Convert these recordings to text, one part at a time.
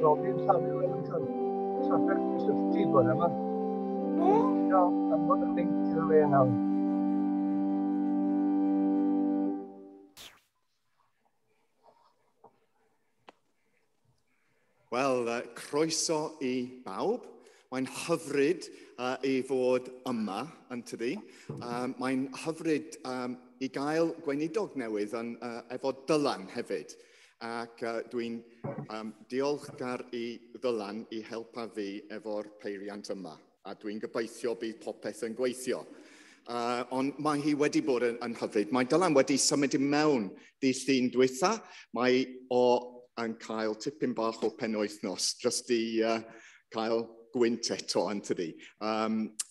Robin Samuel Ellington. Trafferth cysylltu bore yma. Do, anfon y link iddo fe nawr. Wel, croeso i bawb. Mae'n hyfryd i fod yma, yn tydi. Mae'n hyfryd i gael gweinidog newydd yn, efo Dylan hefyd. Ac dwi'n diolchgar i Ddylan i helpa fi efo'r peiriant yma. A dwi'n gobeithio bydd popeth yn gweithio. Ond mae hi wedi bod yn hyfryd. Mae Dylan wedi symud i mewn dydd Llun dwytha. Mae o yn cael tipyn bach o penwythnos, jyst i cael gwynt eto, yn tydi,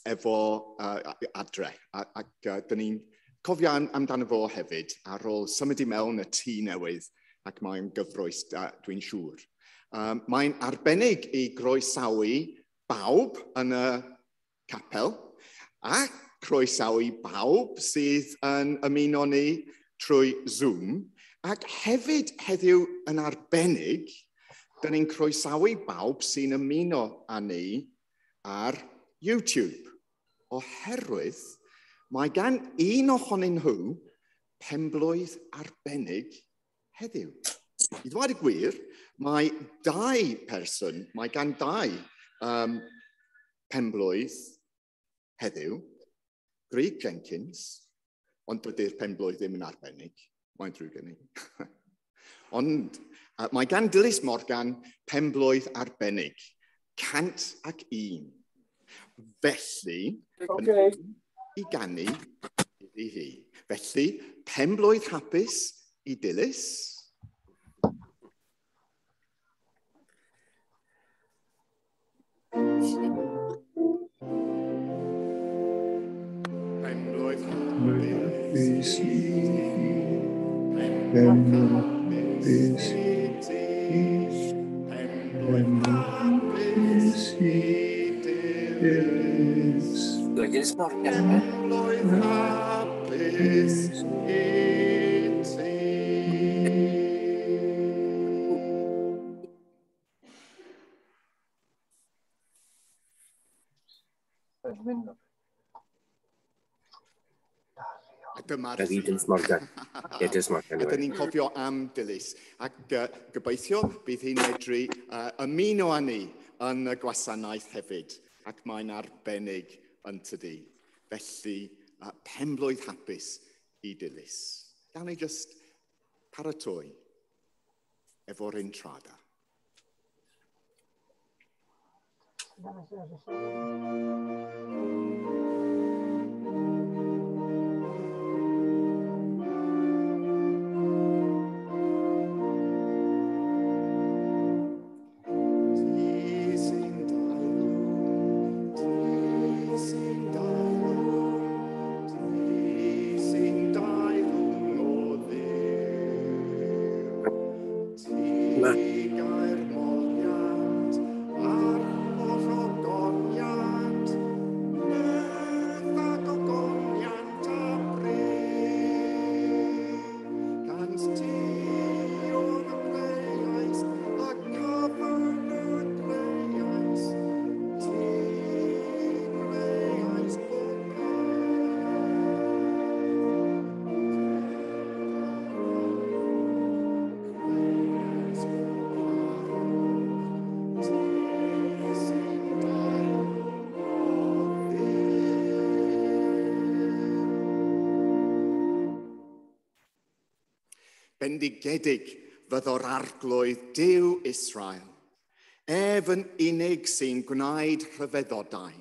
efo adre. Ac dyn ni'n cofio amdano fo hefyd ar ôl symud i mewn y tŷ newydd, ac mae'n gyfrwys, dwi'n siŵr. Mae'n arbennig i groesawu bawb yn y capel, a croesawu bawb sydd yn ymuno ni trwy Zoom, ac hefyd heddiw yn arbennig, dyn ni'n croesawu bawb sy'n ymuno â ni ar YouTube, oherwydd mae gan un ohonyn nhw penblwydd arbennig heddiw. I ddweud y gwir, mae dau person, mae gan dau penblwydd heddiw, Greg Jenkins, ond dydy'r penblwydd ddim yn arbennig, mae'n drwg gen i. Ond mae gan Dilys Morgan penblwydd arbennig, 101. Felly, i ganu iddi hi. Felly, penblwydd hapus i Dilys. Penblwydd hapus i ti. Penblwydd hapus i ti. Penblwydd hapus i Dilys. Dilys Morgan. Penblwydd hapus i ti. Dyma'r Dilys Morgan. Ie, Dilys Morgan. A dyn ni'n cofio am Dilys. Ac gobeithio bydd hi'n medru ymuno â ni yn y gwasanaeth hefyd. Ac mae'n arbennig yn tydi. Felly, penblwydd hapus i Dilys. Gawn ni jyst paratoi efo'r intrada. Bendigedig fyddo'r arglwydd Duw Israel, ef yn unig sy'n gwneud rhyfeddodau.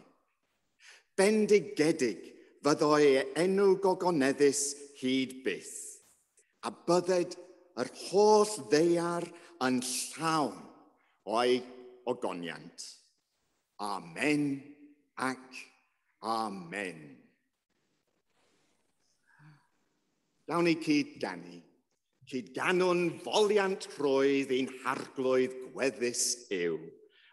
Bendigedig fyddo ei enw gogoneddus hyd byth, a bydded yr holl ddaear yn llawn o'i ogoniant. Amen ac amen. Gawn ni cyd-ganu. Cyd-ganwn foliant rhoedd ein harglwydd gweddus yw.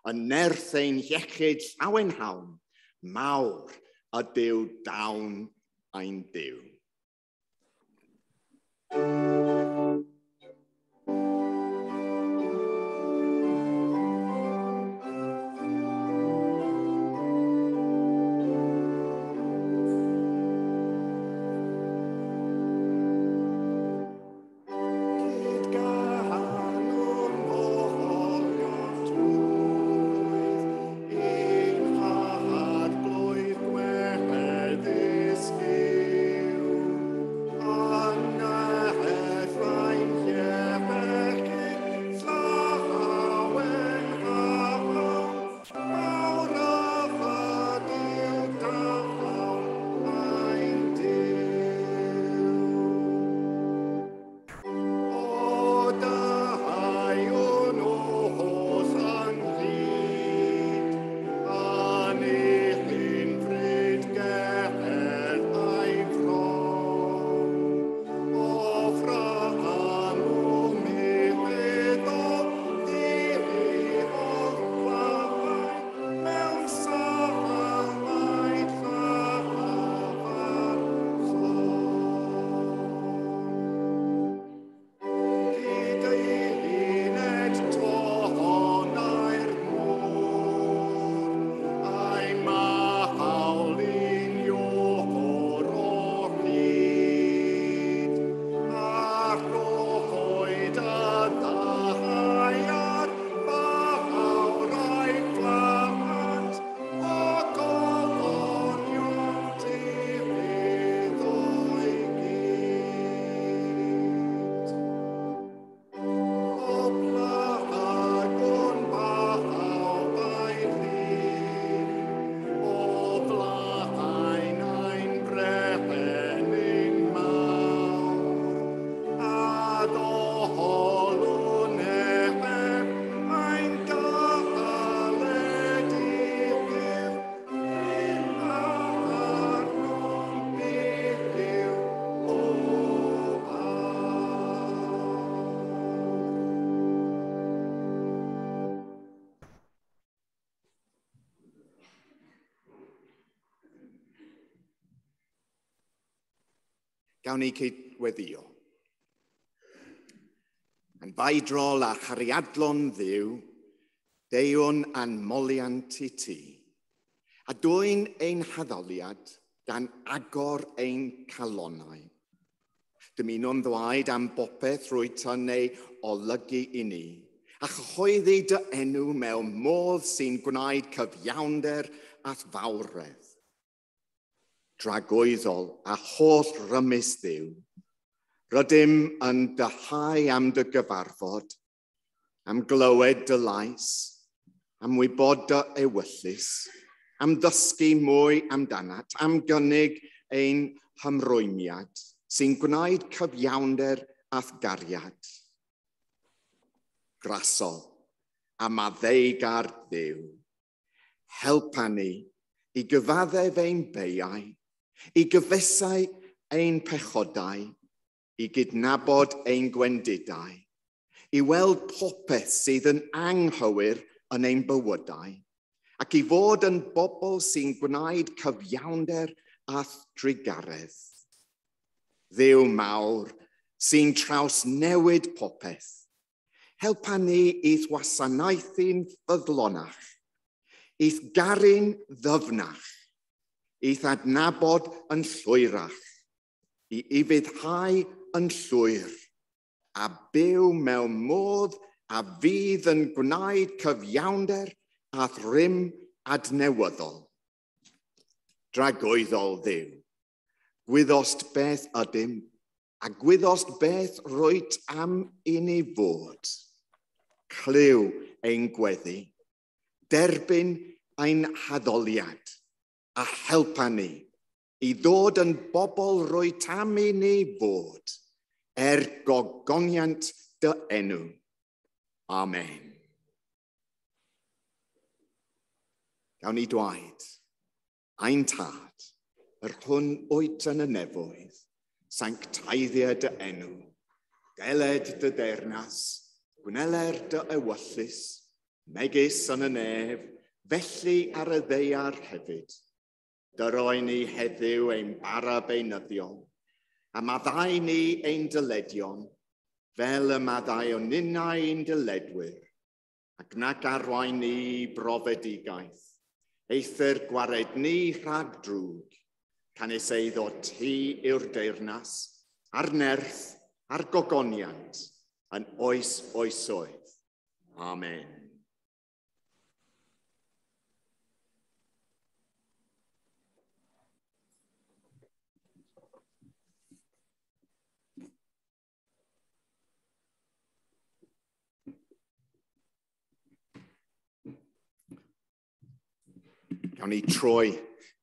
Y nerth ein iechyd llawenhawn, mawr ydyw dawn ein Duw. Gawn ni cydweddio. Yn faidrol a chariadlon Dduw, deuwn a'n moliant i ti, a dwyn ein haddoliad gan agor ein calonnau. Dymunwn ddwaed am bopeth rwyt yn ei olygu i ni, a chyhoeddi dy enw mewn modd sy'n gwneud cyfiawnder at fawredd. Dragwyddol a holl rymus Dduw, rydym yn dyhau am dy gyfarfod, am glywed dy lais, am wybod dy ewyllys, am ddysgu mwy amdanat, am gynnig ein hymrwymiad sy'n gwneud cyfiawnder a'th gariad. Grasol a maddeugar Dduw, helpa ni i gyfaddef ein beiau, i gyfesau ein pechodau, i gydnabod ein gwendidau, i weld popeth sydd yn anghywir yn ein bywydau, ac i fod yn bobl sy'n gwneud cyfiawnder a thrugaredd. Dduw mawr sy'n trawsnewid popeth, helpa ni i'th wasanaethu'n ffyddlonach, i'th garu'n ddyfnach, i'th adnabod yn llwyrach, i ufuddhau yn llwyr, a byw mewn modd a fydd yn gwneud cyfiawnder a thrym adnewyddol. Dragwyddol Dduw, gwyddost beth ydym, a gwyddost beth rwyt am i ni fod. Clyw ein gweddi, derbyn ein haddoliad, a helpa ni i ddod yn bobl rwyt am i ni fod, er gogoniant dy enw. Amen. Gawn ni dwaed, ein tad, yr hwn wyt yn y nefoedd, sancteiddia dy enw, deled dy deyrnas, gwneler dy ewyllys, megis yn y nef, felly ar y ddaear hefyd. Dyroi ni heddiw ein bara beunyddiol, a maddau ni ein dyledion, fel y maddau o ninnau ein dyledwyr, ac nac arwain ni brofedigaeth, eithr gwared ni rhag drwg, canys eiddo ti yw'r deyrnas, a'r nerth, a'r gogoniant, yn oes oesoedd. Amen. Gawn ni troi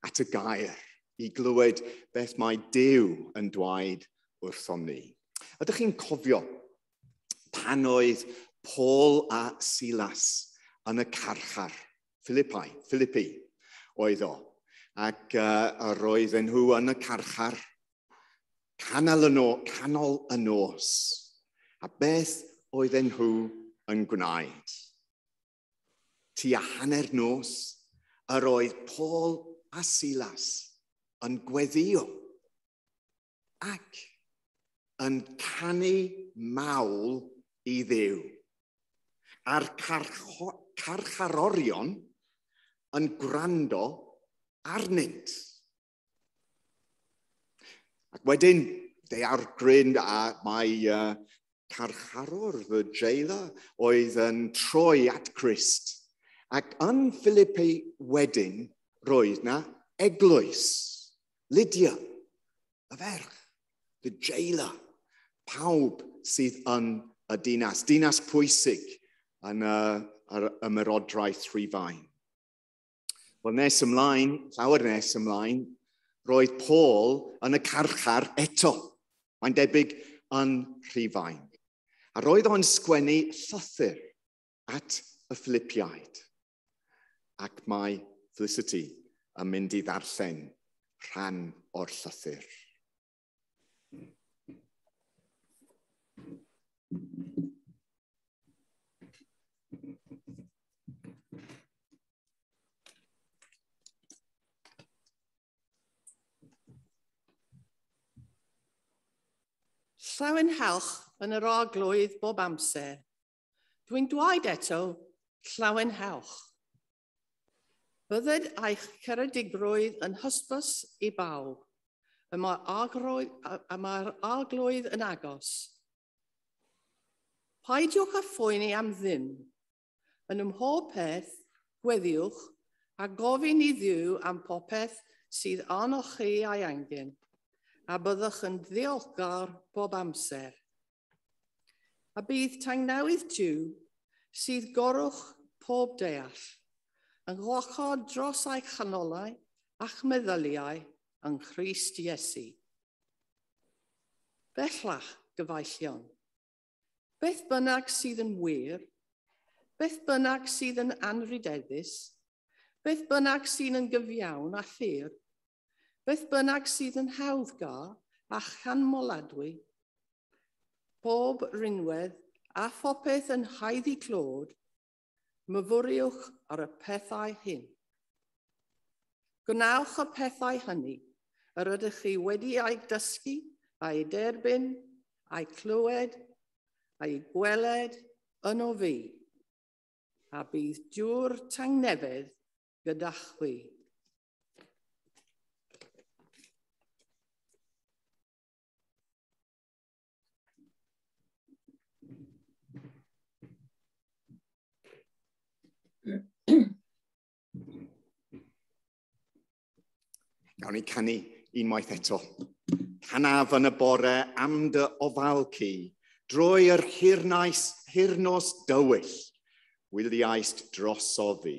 at y gair i glywed beth mae Duw yn dweud wrthom ni. Ydych chi'n cofio pan oedd Paul a Silas yn y carchar, Philippi oedd o, ac roedden nhw yn y carchar canol y nos. A beth oedden nhw yn gwneud? Tua hanner nos, yr oedd Paul a Silas yn gweddio ac yn canu mawl i Dduw. A'r carcharorion yn gwrando arnynt. Ac wedyn, daeargryn a mae carcharor, the jailer, oedd yn troi at Christ. Ac yn Philippi wedyn, roedd na eglwys, Lydia, y ferch, the jailer, pawb sydd yn y dinas, dinas pwysig yn yr ymerodraeth Rhufain. Wel, nes ymlaen, llawer nes ymlaen, roedd Paul yn y carchar eto. Mae'n debyg yn Rhufain. A roedd o'n sgwennu llythyr at y Philippiaid. Ac mae Felicity yn mynd i ddarllen rhan o'r llythyr. Llawenhewch yn yr arglwydd bob amser. Dwi'n dweud eto, llawenhewch. Bydded eich ceredigrwydd yn hysbys i bawb. Y mae'r arglwydd yn agos. Peidiwch â phoeni am ddim. Yn ymhob peth, gweddiwch a gofyn i Dduw am popeth sydd arnoch chi a'i angen, a byddwch yn ddiolchgar bob amser. A bydd tangnewid Duw sydd goruwch pob deall, yn gwarchod dros eich chanolau a'ch meddyliau yng Nghrist Iesu. Bellach, gyfeillion, beth bynnag sydd yn wir, beth bynnag sydd yn anrhydeddus, beth bynnag sydd yn gyfiawn a phur, beth bynnag sydd yn hawddgar a chanmoladwy, pob rinwedd a phopeth yn haeddu clod, myfyriwch ar y pethau hyn. Gwnewch y pethau hynny yr ydych chi wedi eu dysgu, a'u derbyn, a'u clywed, a'u gweled yno fi, a bydd Duw'r tangnefedd gyda chwi. Gawn ni canu unwaith eto. Canaf yn y bore am dy ofal ci, drwy yr hirnos dywyll, wyliaist drosof fi.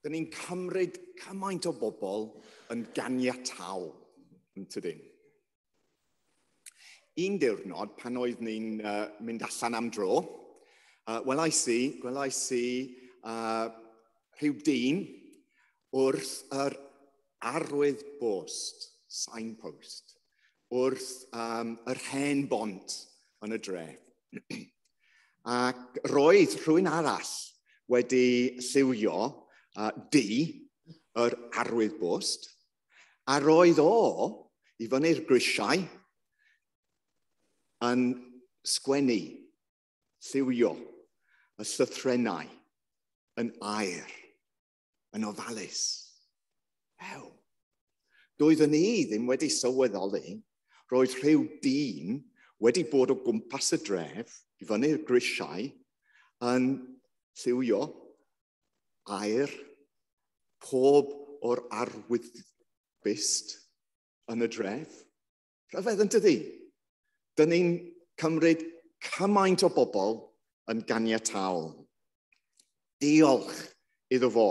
Dyn ni'n cymryd cymaint o bobl yn ganiataol, yn tydyn. Un diwrnod, pan oedd ni'n mynd allan am dro, welais i rhyw dyn wrth yr arwydd bost, signpost, wrth yr hen bont yn y dref. Ac roedd rhywun arall wedi lliwio du yr arwydd bost, a roedd o i fyny'r grisiau yn sgwennu, lliwio y llythrennau yn air, yn ofalus. Ew. Doeddwn i ddim wedi sylweddoli, roedd rhyw dyn wedi bod o gwmpas y dref, i fyny'r grisiau, yn lliwio air pob o'r arwyddbyst yn y dref. Rhyfedd yn dydi? Dyn ni'n cymryd cymaint o bobl yn ganiataol. Diolch iddo fo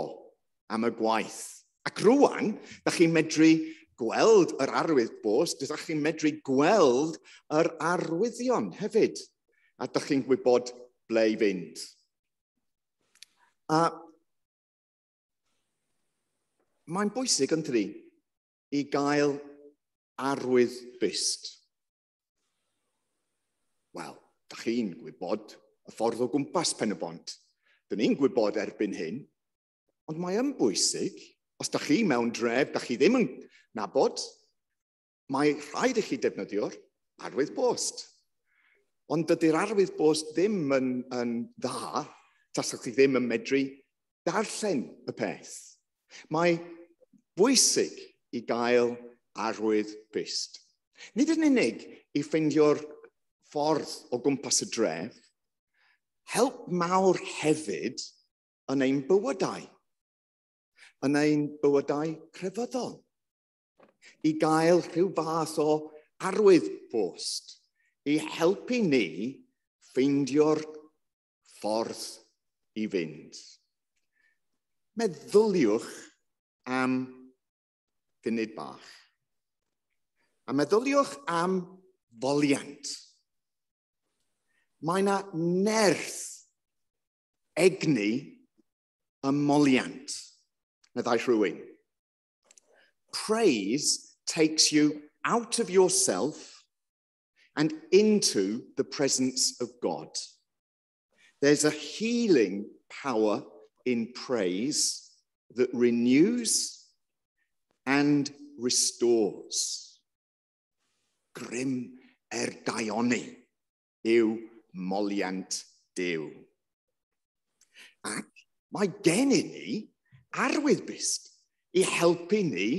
am y gwaith. Ac rwan, da chi'n medru gweld yr arwydd bost, da chi'n medru gweld yr arwyddion hefyd. A da chi'n gwybod ble i fynd. A mae'n bwysig yn tydi i gael arwydd byst. Wel, da chi'n gwybod y ffordd o gwmpas Pen-y-bont. Dyn ni'n gwybod erbyn hyn, ond mae yn bwysig, os da chi mewn dref, da chi ddim yn nabod, mae rhaid i chi defnyddio'r arwydd bost. Ond dydy'r arwydd bost ddim yn dda, tasach chi ddim yn medru darllen y peth. Mae bwysig i gael arwydd byst. Nid yn unig i ffeindio'r ffordd o gwmpas y dref, help mawr hefyd yn ein bywydau crefyddol, i gael rhyw fath o arwydd bost, i helpu ni ffeindio'r ffordd i fynd. Meddyliwch am funud bach. A meddyliwch am foliant. Mae yna nerth egni y moliant, meddai rhywun. Praise takes you out of yourself and into the presence of God. There's a healing power in praise that renews and restores. Grym daioni yw moliant Duw. Ac mae gennym ni arwydd byst i helpu ni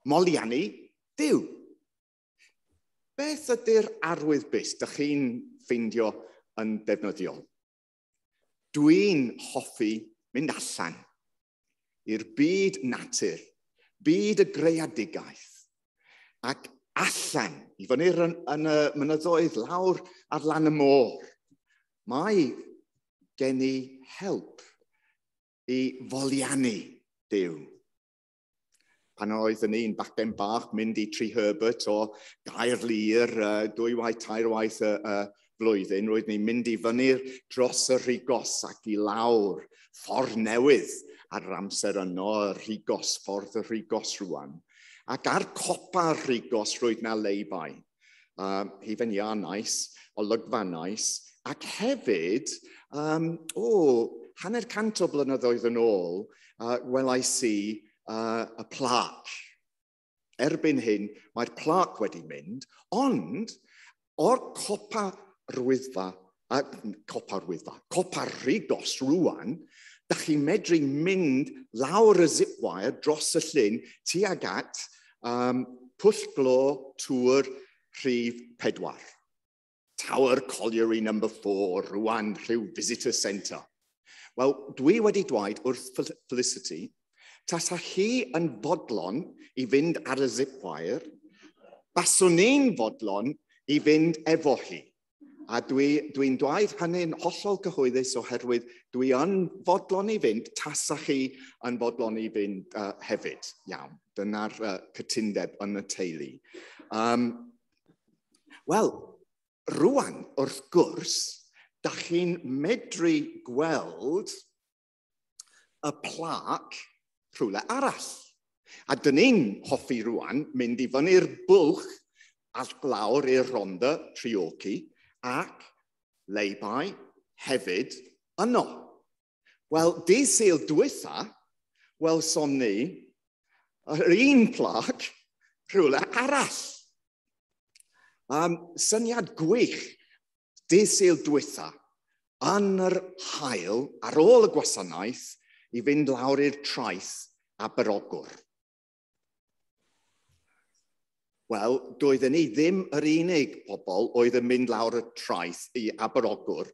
moliannu Duw. Beth ydy'r arwydd byst dych chi'n ffeindio yn defnyddiol? Dwi'n hoffi mynd allan i'r byd natur, byd y greadigaeth, ac allan i fyny yn y mynyddoedd lawr ar lan y môr. Mae gen i help i foliannu Duw. Pan oedd yn un bachgen bach mynd i Treherbert o Gaerlŷr 2 tair waith y flwyddyn, roedd ni'n mynd i fyny dros y Rhigos ac i lawr ffordd newydd ar yr amser yno, y Rhigos, ffordd y Rhigos rwan. Ac ar copa'r Rhigos roedd na leibai. Hufen iâ nice, olygfa nice, ac hefyd, 150 o blynyddoedd yn ôl, welais i y plac. Erbyn hyn, mae'r plac wedi mynd, ond o'r copa Rhigos rwan, da chi'n medru mynd lawr y zip wire dros y llyn tuag at Pwll Glo Tŵr Rhif 4. Tower Colliery number 4, rwan rhyw visitor centre. Wel, dwi wedi dweud wrth Felicity, tasa hi yn fodlon i fynd ar y zip wire, baswn i'n fodlon i fynd efo hi. A dwi'n dweud hynny'n hollol cyhoeddus oherwydd dwi yn fodlon i fynd, tasa chi yn fodlon i fynd hefyd. Iawn, dyna'r cytundeb yn y teulu. Wel, rwan, wrth gwrs, da chi'n medru gweld y plac rhywle arall. A dyn ni'n hoffi rwan mynd i fyny'r bwlch a lawr i'r Rhondda Treorci ac lay-by hefyd yno. Wel, dydd Sul dwytha, welson ni yr un plac rhywle arall. Syniad gwych, dydd Sul dwytha, yn yr haul, ar ôl y gwasanaeth, i fynd lawr i'r traeth Aberogwr. Wel, doedden ni ddim yr unig pobl oedd yn mynd lawr y traeth i Aberogwr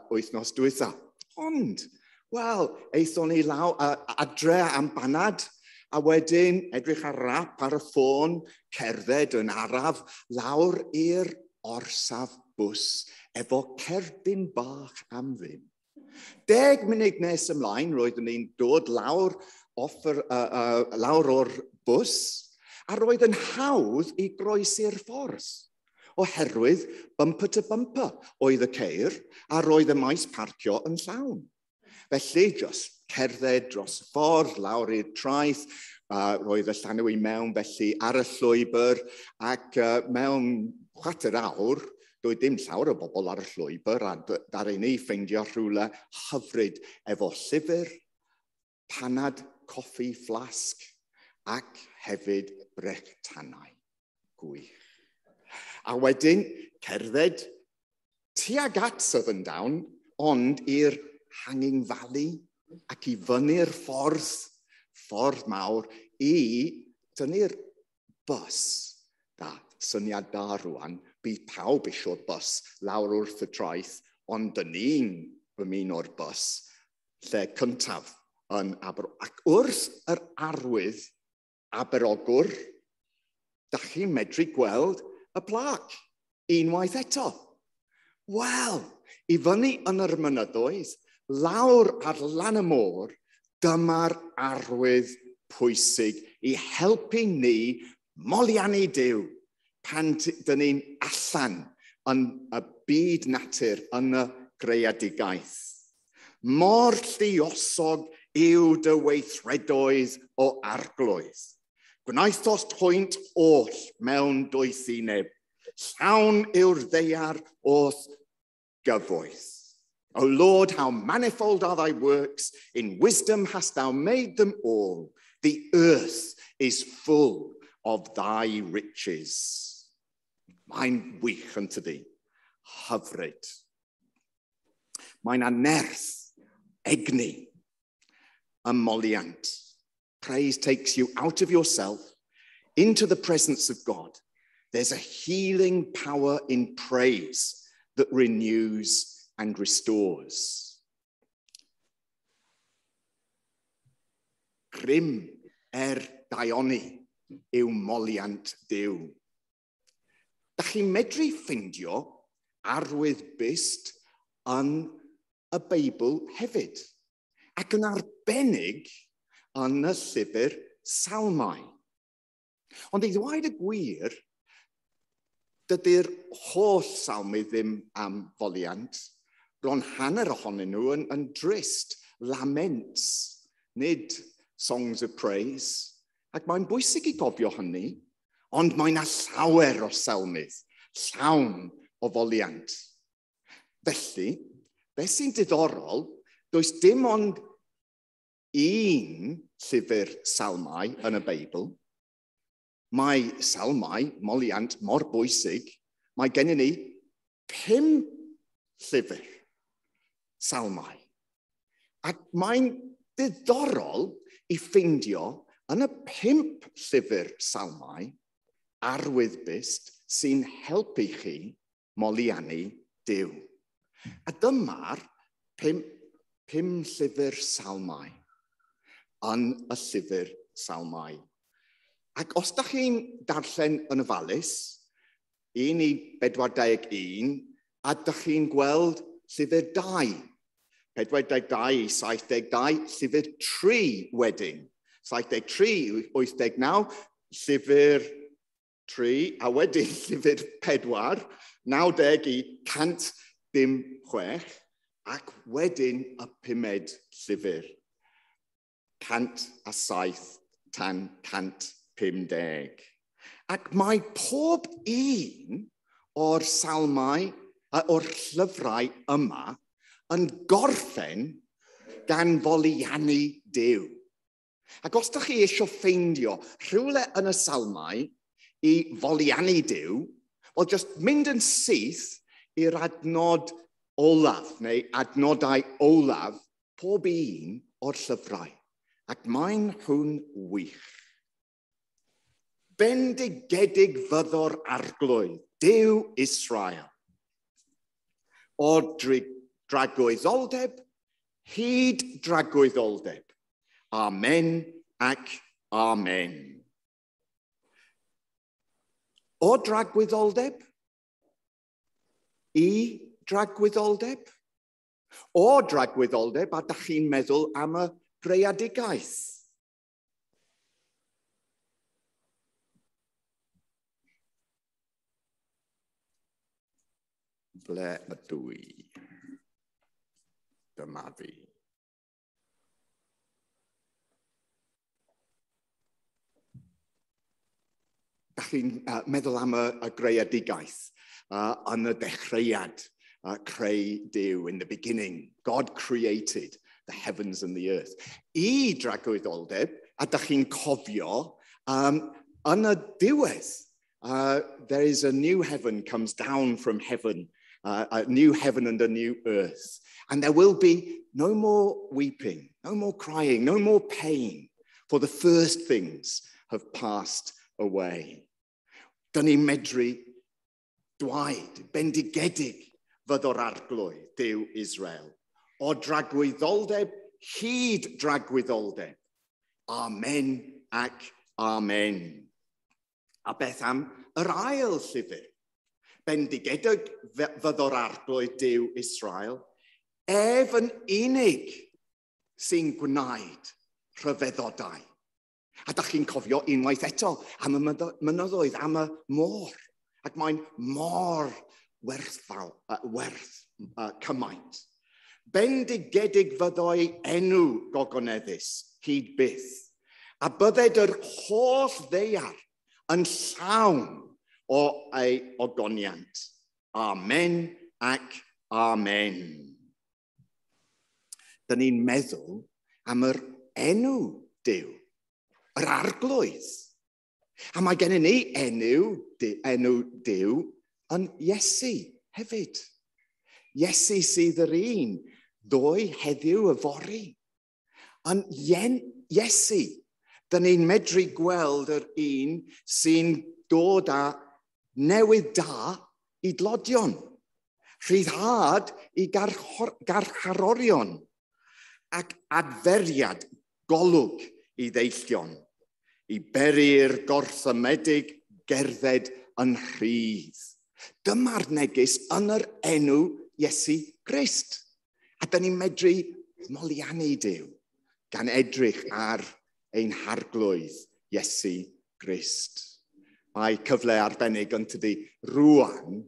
wythnos dwytha. Ond, wel, aethon ni lawr adre am banad, a wedyn edrych ar rap ar y ffôn, cerdded yn araf lawr i'r orsaf bws efo cerdyn bach am ddim. 10 munud nes ymlaen, roeddwn ni'n dod lawr, off yr, lawr o'r bws, a roedd yn hawdd i groesi'r ffordd, oherwydd bumper to bumper oedd y ceir, a roedd y maes parcio yn llawn. Felly, just cerdded dros y ffordd, lawr i'r traeth, roedd y llanw i mewn felly ar y llwybr, ac mewn chwarter awr, doedd dim llawer o bobl ar y llwybr, a ddaru ni ffeindio rhywle hyfryd efo llyfr, panad, coffi, flasg, ac hefyd brechtanau. Gwych. A wedyn, cerdded tuag at Southerndown, ond i'r Hanging Valley ac i fyny'r ffordd mawr, i dynnu'r bws. Da, syniad da rwan, bydd pawb eisiau'r bws lawr wrth y traeth, ond dyn ni'n ymuno'r bws lle cyntaf yn Aber. Ac wrth yr arwydd Aberogwr, da chi'n medru gweld y plac unwaith eto. Wel, i fyny yn yr mynyddoedd, lawr ar lan y môr, dyma'r arwydd pwysig i helpu ni moliannu Duw pan dyn ni'n allan yn y byd natur, yn y greadigaeth. Mor lluosog yw dy weithredoedd o Arglwydd. Gwnaethost hwynt oll mewn doethineb. Llawn yw'r ddaear o'th gyfoeth. O Lord, how manifold are thy works. In wisdom hast thou made them all. The earth is full of thy riches. Mae'n wych yn tydi. Hyfryd. Mae'n anerth, egni, ymoliant. Praise takes you out of yourself into the presence of God. There's a healing power in praise that renews and restores. Grym er daioni yw moliant Duw. Da chi'n medru ffindio arwydd byst yn y Beibl hefyd, ac yn arbennig yn y llyfr Salmau. Ond i ddweud y gwir, dydy'r holl salmydd ddim am foliant. Bron hanner ohonyn nhw yn drist, laments, nid songs of praise. Ac mae'n bwysig i gofio hynny, ond mae 'na llawer o salmydd, llawn o foliant. Felly, beth sy'n diddorol, does dim ond un llyfr salmau yn y Beibl. Mae salmau, moliant, mor bwysig. Mae gennym ni 5 llyfr salmau. Ac mae'n diddorol i ffeindio yn y 5 llyfr salmau arwyddbyst sy'n helpu chi moliannu Duw. A dyma'r 5 llyfr salmau yn y llyfr salmau. Ac os da chi'n darllen yn ofalus, 1 i 41, A dych chi'n gweld llyfr 2. 42 i 72, llyfr 3 wedyn. 73 i 89, llyfr 3, a wedyn llyfr 4, 90 i 106, ac wedyn y pumed llyfr, 107 tan 150. Ac mae pob un o'r salmau, o'r llyfrau yma yn gorffen gan foliannu Duw. Ac os ydych chi eisiau ffeindio rhywle yn y salmau i foliannu Duw, wel, just mynd yn syth i'r adnod olaf, neu adnodau olaf, pob un o'r llyfrau. Ac mae'n nhw'n wych. Bendigedig fyddo'r Arglwydd, Duw Israel. O dragwyddoldeb hyd dragwyddoldeb. Amen ac amen. O dragwyddoldeb i dragwyddoldeb. O dragwyddoldeb, a dach chi'n meddwl am y greadigaeth. Ble ydw i? Dyma fi. Dach chi'n meddwl am y greadigaeth yn y dechreuad, creu Duw, in the beginning. God created the heavens and the earth. I dragwyddoldeb, a dach chi'n cofio, yn y diwedd, there is a new heaven comes down from heaven, a new heaven and a new earth. And there will be no more weeping, no more crying, no more pain, for the first things have passed away. Dyn ni'n medru dwaed, bendigedig fyddo'r Arglwydd, Duw Israel, o dragwyddoldeb hyd dragwyddoldeb. Amen ac amen. A beth am yr ail llyfr? Bendigedig fyddo'r Arglwydd, Duw Israel, ef yn unig sy'n gwneud rhyfeddodau. A dach chi'n cofio unwaith eto am y mynyddoedd, am y môr. Ac mae'n mor werthfawr, werth cymaint. Bendigedig fyddoi enw gogoneddus hyd byth. A bydded yr holl ddaear yn llawn o ei ogoniant. Amen ac amen. Dyn ni'n meddwl am yr enw Duw, yr Arglwydd. A mae gennym ni enw Duw yn Iesu hefyd. Iesu sydd yr un, ddoe, heddiw, yfory. Yn Iesu, dyn ni'n medru gweld yr un sy'n dod â newydd da i dlodion, rhyddhad i garcharorion, ac adferiad golwg i ddeillion, i beri'r gorthymedig gerdded yn rhydd. Dyma'r neges yn yr enw Iesu Grist. A dyn ni'n medru moliannu Duw gan edrych ar ein harglwydd Iesu Grist. Mae cyfle arbennig yn tydi rŵan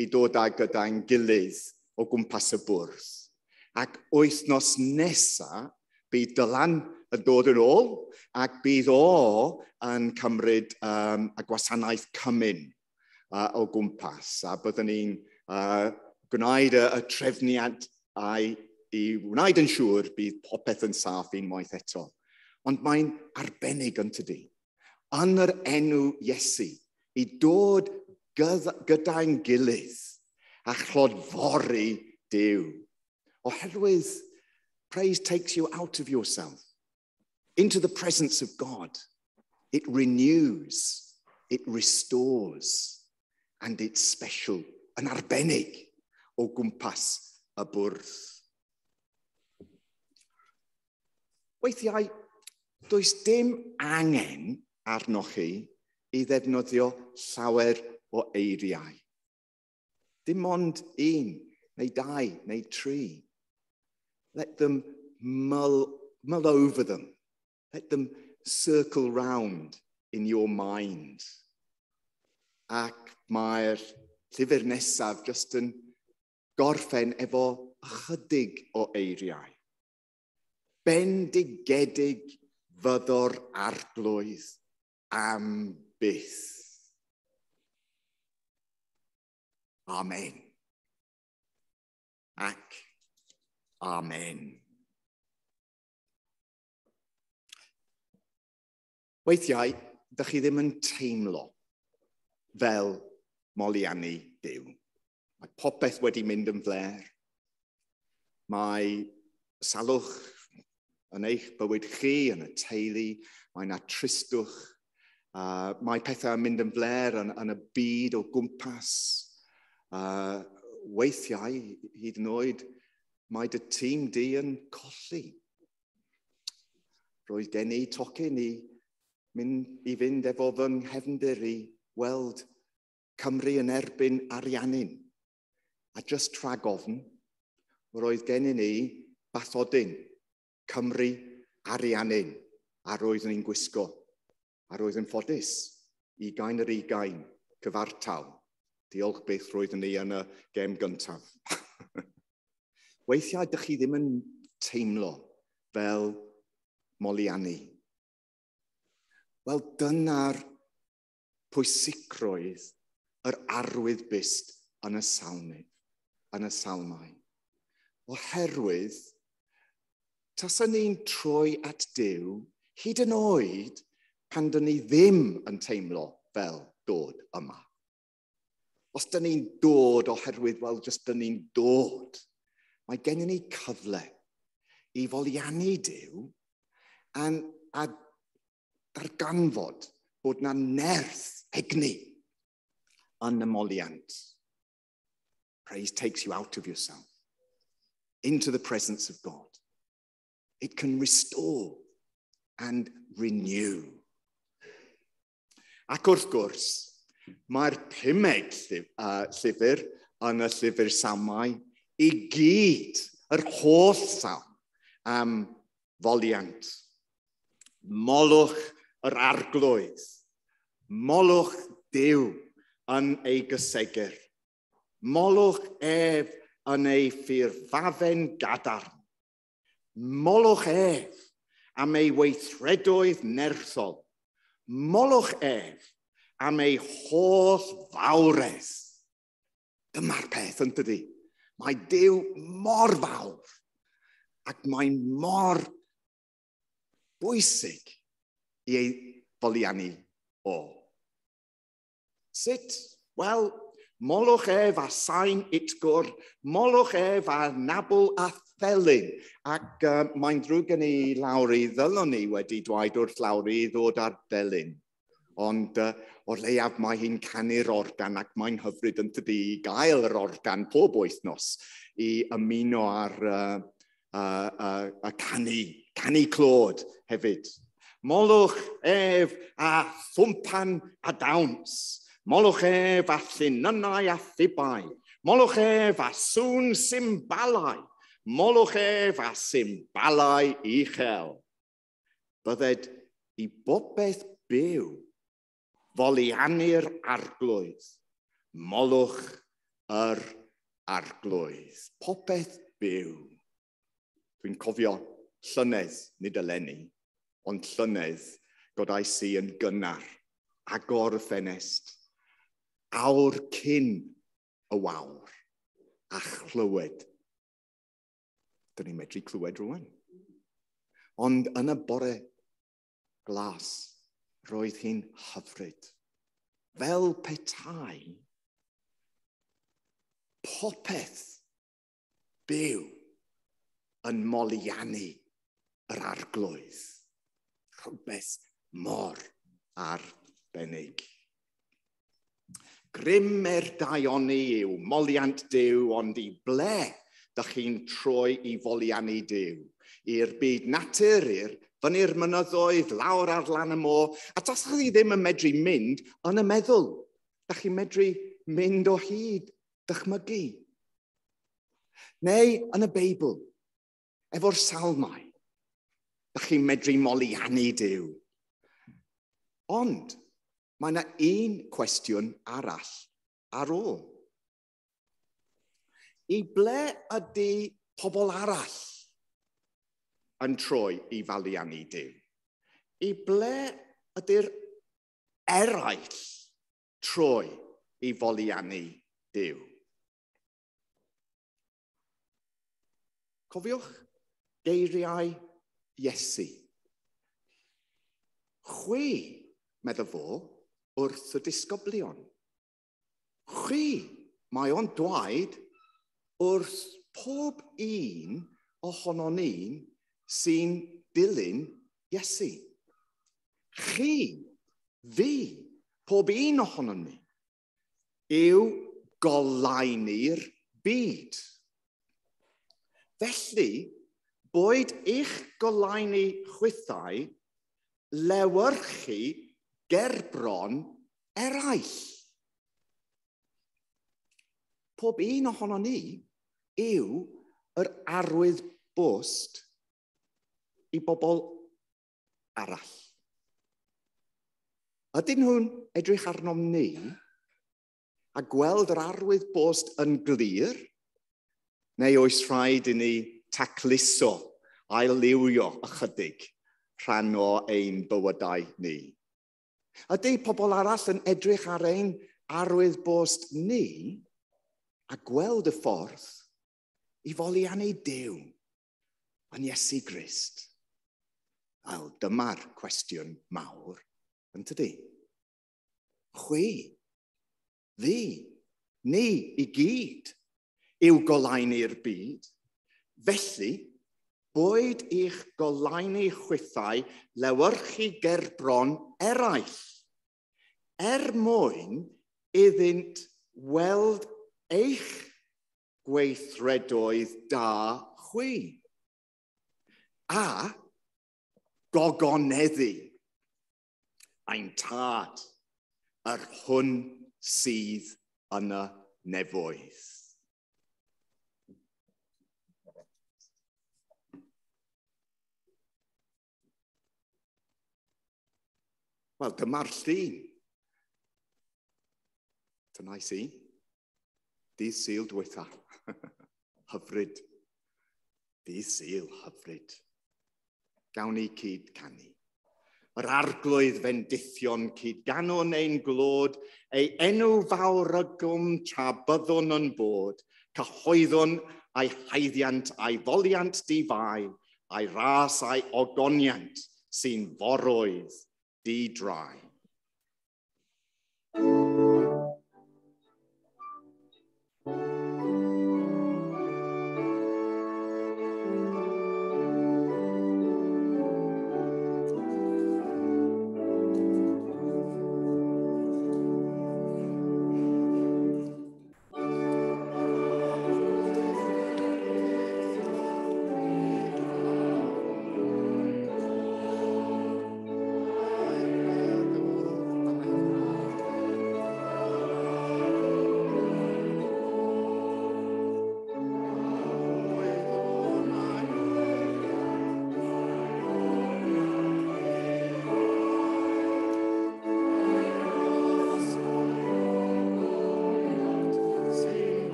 i dod â gyda'n gilydd o gwmpas y bwrdd. Ac wythnos nesa, bydd Dylan yn dod yn ôl ac bydd o yn cymryd y gwasanaeth cymun o gwmpas. A byddwn ni'n gwneud y trefniad i wneud yn siŵr bydd popeth yn saff unwaith eto. Ond mae'n arbennig yn tydi. Yn yr enw Iesu, i dod gyda'n gilydd a chlodfori Duw. Oherwydd, praise takes you out of yourself, into the presence of God. It renews, it restores, and it's special, yn arbennig o gwmpas y bwrdd. Weithiau, does dim angen arnoch chi i ddefnyddio llawer o eiriau. Dim ond un, neu dau, neu tri. Let them mull over them. Let them circle round in your mind. Ac mae'r llyfr nesaf just yn gorffen efo ychydig o eiriau. Bendigedig fyddo'r Arglwydd am byth. Amen. Ac amen. Weithiau, dych chi ddim yn teimlo fel moliannu Duw. Mae popeth wedi mynd yn flêr. Mae salwch yn eich bywyd chi, yn y teulu, mae yna tristwch. Mae pethau yn mynd yn flêr yn y byd o gwmpas. Weithiau, hyd yn oed, mae dy tîm di yn colli. Roedd gen i tocyn i fynd efo fy nghefndir i weld Cymru yn erbyn Ariannin. A just rhag ofn, roedd gennym ni bathodyn Cymru Ariannin, a roeddwn ni'n gwisgo. A roedd yn ffodus, 20-20 cyfartal. Diolch byth roeddwn ni yn y gêm gyntaf. Weithiau, dych chi ddim yn teimlo fel moliannu. Wel, dyna'r pwysigrwydd yr arwydd byst yn y salmydd, yn y salmau. Oherwydd, taswn ni'n troi at Duw, hyd yn oed pan dyn ni ddim yn teimlo fel dod yma. Os dyn ni'n dod oherwydd, wel, jyst dyn ni'n dod, mae gennym ni cyfle i foliannu Duw a darganfod bod na nerth egni yn y moliant. Praise takes you out of yourself, into the presence of God. It can restore and renew. Ac wrth gwrs, mae'r pumed llyfr yn y llyfr Salmau i gyd, yr holl salm am foliant. Molwch yr Arglwydd, molwch Duw yn ei gysegr, molwch ef yn ei ffurfafen gadarn, molwch ef am ei weithredoedd nerthol, molwch ef am ei holl fawredd. Dyma'r peth, yn dydi? Mae Duw mor fawr ac mae'n mor bwysig i ei foliannu o. Sut? Wel, molwch ef a sain utgwr, molwch ef a nabl a thelyn. Ac mae'n ddrwg gen i Lowri, ddylwn ni wedi dweud wrth Lowri i ddod ar delyn. Ond o'r leiaf mae hi'n canu'r organ ac mae'n hyfryd yn tydi i gael yr organ pob wythnos i ymuno ar y canu clod hefyd. Molwch ef a thwmpan a dawns. Molwch ef a llinynnau a thibau. Molwch ef a sŵn symbalau. Molwch ef a symbalau uchel. Bydded i bopeth byw foliannu'r Arglwydd. Molwch yr Arglwydd. Popeth byw. Dwi'n cofio llynedd, nid eleni, ond llynedd godais i yn gynnar, agor y ffenest, awr cyn y wawr, a chlywed. Dyn ni'n medru clywed rwan. Ond yn y bore glas, roedd hi'n hyfryd. Fel petai, popeth byw yn moliannu yr Arglwydd. Rhywbeth mor arbennig. Grym er daioni yw moliant Duw, ond i ble dych chi'n troi i foliannu Duw? I'r byd natur, i'r fyny'r mynyddoedd, lawr ar lan y môr. A tas chi ddim yn medru mynd yn y meddwl. Dych chi'n medru mynd o hyd dychmygu. Neu yn y Beibl, efo'r salmau, dach chi'n medru moliannu Duw. Ond mae yna un cwestiwn arall ar ôl. I ble ydy pobl arall yn troi i faliannu Duw? I ble ydy'r eraill troi i foliannu Duw? Cofiwch geiriau Iesu. Chwi, medda fo, wrth y disgyblion. Chwi, mae o'n dweud wrth pob un ohonon ni sy'n dilyn Iesu. Chi, fi, pob un ohonon ni, yw goleuni'r byd. Felly, boed eich goleuni chwithau lewyrchu gerbron eraill. Pob un ohonon ni yw yr arwydd bost i bobl arall. Ydyn nhw'n edrych arnom ni a gweld yr arwydd bost yn glir, neu oes rhaid i ni tacluso, ail-liwio ychydig rhan o ein bywydau ni? Ydy pobl arall yn edrych ar ein arwydd bost ni a gweld y ffordd i foliannu Duw yn Iesu Grist? Wel, dyma'r cwestiwn mawr, yn tydi? Chwi, fi, ni i gyd yw goleuni'r byd. Felly, boed i'ch goleuni chwithau lewyrchu gerbron eraill, er mwyn iddynt weld eich gweithredoedd da chwi, a gogoneddu ein tad, yr hwn sydd yn y nefoedd. Wel, dyma'r llun. Dyna i si. Dydd Sul dwytha. Hyfryd. Dydd Sul, hyfryd. Gawn ni cyd canu. Yr arglwydd fendithion cyd ganwn ein glod, ei enw fawr ygwm tra byddwn yn bod, cyhoeddwn a'i haeddiant a'i foliant di-fai, a'i ras a'i ogoniant sy'n foroedd di-drai.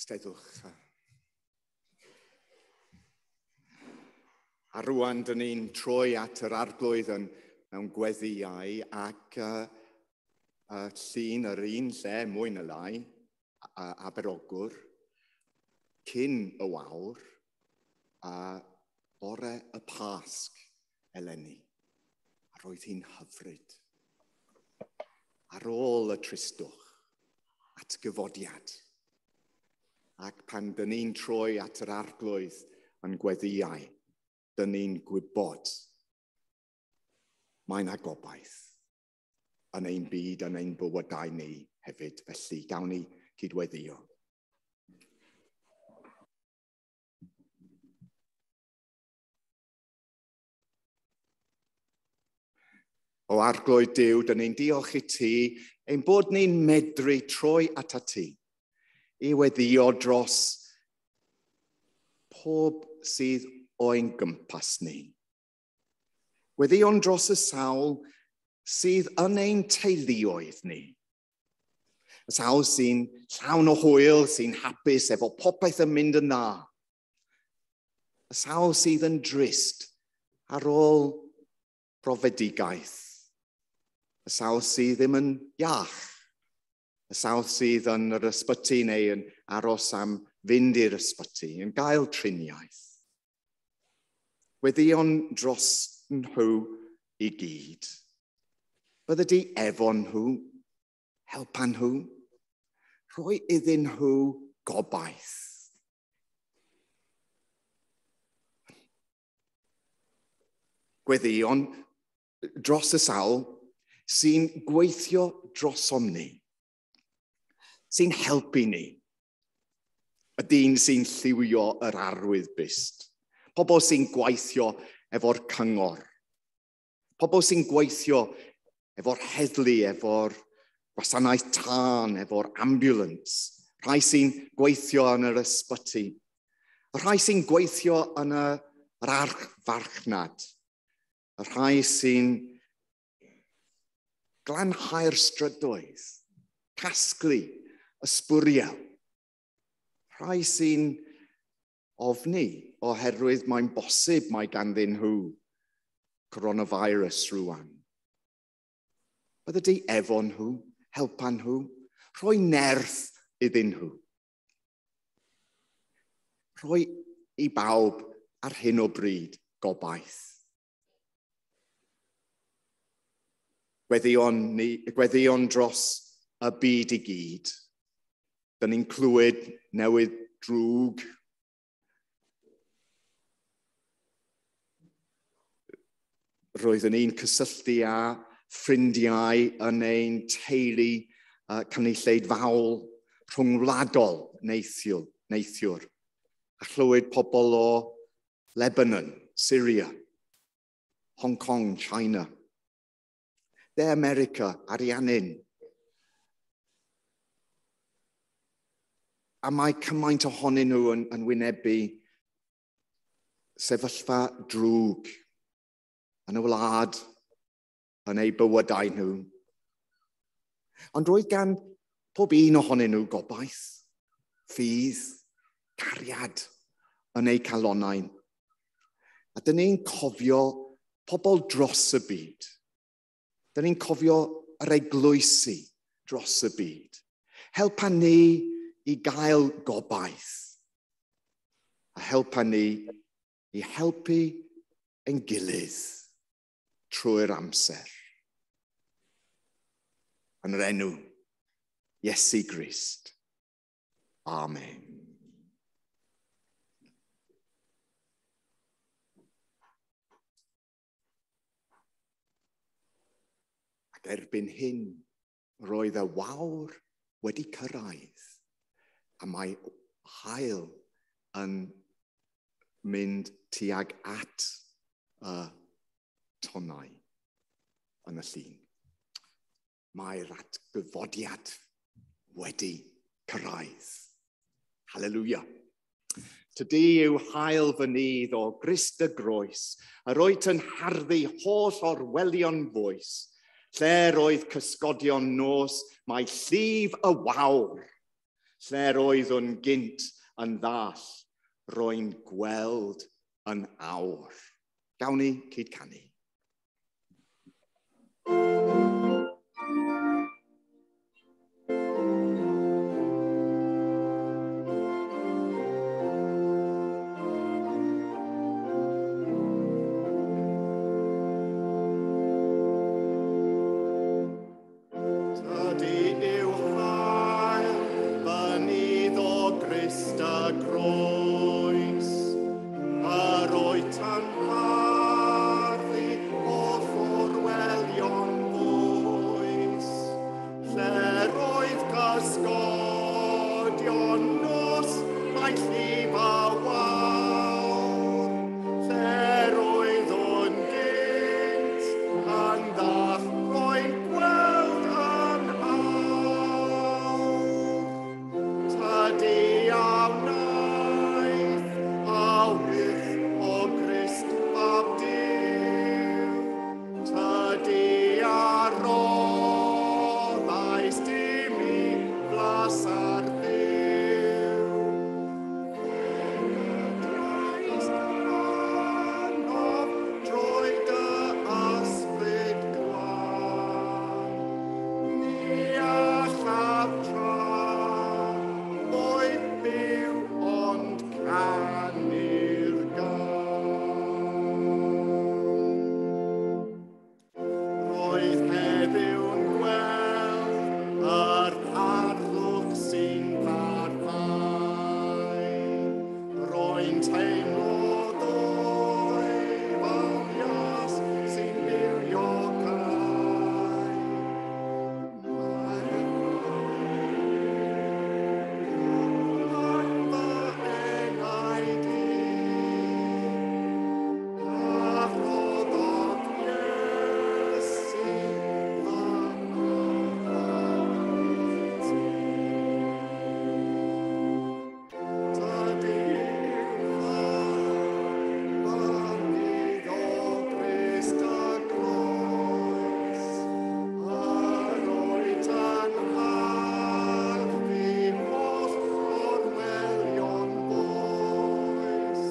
Steddwch. A rwan, dyn ni'n troi at yr arglwydd yn, mewn gweddiau ac llun yr un lle, mwy na lai, Aberogwr, cyn y wawr, a bore y Pasg eleni. A roedd hi'n hyfryd. Ar ôl y tristwch, atgyfodiad. Ac pan dyn ni'n troi at yr arglwydd yn gweddiau, dyn ni'n gwybod mae yna gobaith yn ein byd, yn ein bywydau ni hefyd. Felly, gawn ni cydweddio. O arglwydd Duw, dyn ni'n diolch i ti ein bod ni'n medru troi atat ti i weddio dros pob sydd o'n gwmpas ni. Gweddïon dros y sawl sydd yn ein teuluoedd ni. Y sawl sy'n llawn o hwyl, sy'n hapus efo popeth yn mynd yn dda. Y sawl sydd yn drist ar ôl profedigaeth. Y sawl sydd ddim yn iach. Y sawl sydd yn yr ysbyty neu yn aros am fynd i'r ysbyty, yn gael triniaeth. Weddïon dros nhw i gyd. Bydde di efo nhw, helpa nhw, rhoi iddyn nhw gobaith. Gweddïon dros y sawl sy'n gweithio drosom ni, sy'n helpu ni. Y dyn sy'n lliwio yr arwydd byst. Pobl sy'n gweithio efo'r cyngor. Pobl sy'n gweithio efo'r heddlu, efo'r gwasanaeth tân, efo'r ambulance. Rhai sy'n gweithio yn yr ysbyty. Y rhai sy'n gweithio yn yr archfarchnad. Y rhai sy'n glanhau'r strydoedd, casglu ysbwriel. Rhai sy'n ofni oherwydd mae'n bosib mae ganddyn nhw coronavirus rwan. Bydde di efo nhw, helpa nhw, rhoi nerth iddyn nhw. Rhoi i bawb ar hyn o bryd gobaith. Gweddïon dros y byd i gyd. Dyn ni'n clywed newydd drwg. Roeddwn ni'n cysylltu â ffrindiau yn ein teulu cynulleidfaol rhwngwladol neithiwr. A chlywed pobl o Lebanon, Syria, Hong Kong, China, De America, Ariannin. A mae cymaint ohonyn nhw yn wynebu sefyllfa drwg yn y wlad, yn eu bywydau nhw. Ond roedd gan pob un ohonyn nhw gobaith, ffydd, cariad yn eu calonnau. A dyn ni'n cofio pobl dros y byd. Dyn ni'n cofio yr eglwysi dros y byd. Helpa ni i gael gobaith. A helpa ni i helpu ein gilydd trwy'r amser. Yn yr enw Iesu Grist. Amen. Ac erbyn hyn, roedd y wawr wedi cyrraedd, a mae haul yn mynd tuag at y tonnau yn y llun. Mae'r atgyfodiad wedi cyrraedd. Hallelujah. Tydi yw haul fy nydd o Grist y groes, yr wyt yn harddu holl orwelion fwys. Lle roedd cysgodion nos, mae llif y wawr. Lle'r oeddwn gynt yn ddall, rwy'n gweld yn awr. Gawn ni cyd-canu. Tydi yw hael, fynydd o Grist y groes, yr wyt yn harddu holl orwelion bwys, lle'r oedd cysgodion nos, mae llif a wawr, lle'r oeddwn gynt yn ddall, rwy'n gweld yn awr. Tydi a wnaeth awyr o Grist fab Duw. Tydi a roddaist i mi flas ar fyw. Christ arnof drwy dy ysbryd glân. Ni allaf tra oedd byw ond canu'r gân. Roedd heddiw'n gweld yr harddwch sy'n parhau. Rwy'n teimlo ddwy falias sy'n bywiogau. Mae'r fy enaid i, a rhoddodd Iesu fy arwaith. Tydi fynydd o Grist y groes, yr wyt yn harddu holl orwelion bwys.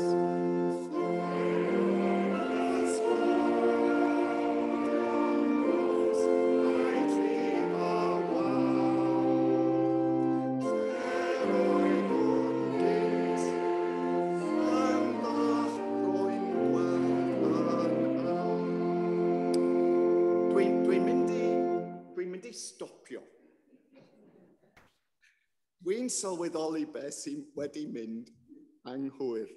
Dwi'n mynd i stopio. Dwi'n sylweddoli beth sy'n wedi mynd anghywir.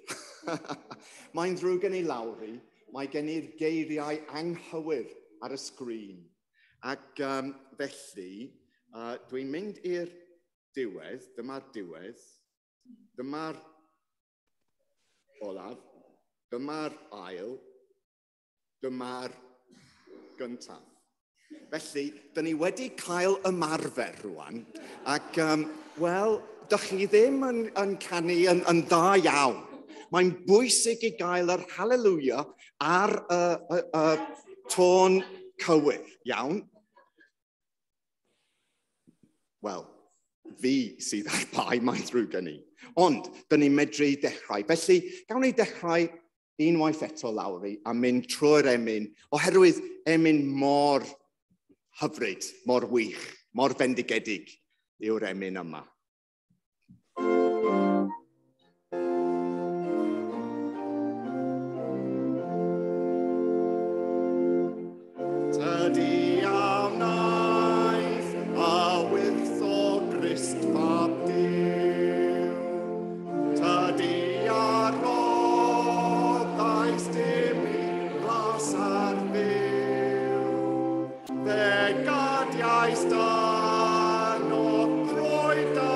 Mae'n ddrwg gen i Lowri, mae gen i'r geiriau anghywir ar y sgrin. Ac felly, dwi'n mynd i'r diwedd, dyma'r diwedd, dyma'r olaf, dyma'r ail, dyma'r gyntaf. Felly, dyn ni wedi cael ymarfer rwan, ac, wel, dych chi ddim yn canu yn dda iawn. Mae'n bwysig i gael yr hallelujah ar y tôn cywir, iawn? Wel, fi sydd ar bai, mae'n ddrwg gen i. Ond, dyn ni'n medru dechrau. Felly, gawn ni dechrau unwaith eto, Lowri, a mynd trwy'r emyn, oherwydd emyn mor hyfryd, mor wych, mor fendigedig yw'r emyn yma. Tydi a wnaeth awyr o Grist fab Duw. Tydi a roddaist i mi flas ar fyw. Fe gadiaist yno trwy dy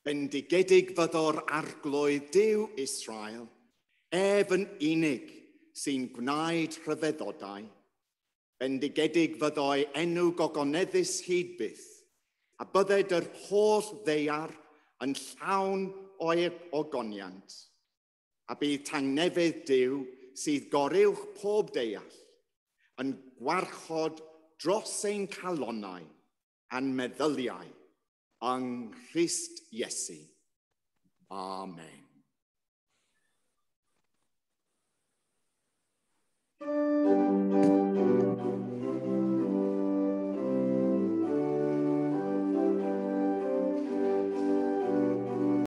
Bendigedig fyddo'r arglwydd Duw Israel, ef yn unig sy'n gwneud rhyfeddodau. Bendigedig fyddoi enw gogoneddus hyd byth, a bydded yr holl ddaear yn llawn o'i ogoniant. A bydd tangnefedd Duw sydd goruwch pob deall yn gwarchod dros ein calonnau a'n meddyliau yng Nghrist Iesu. Amen.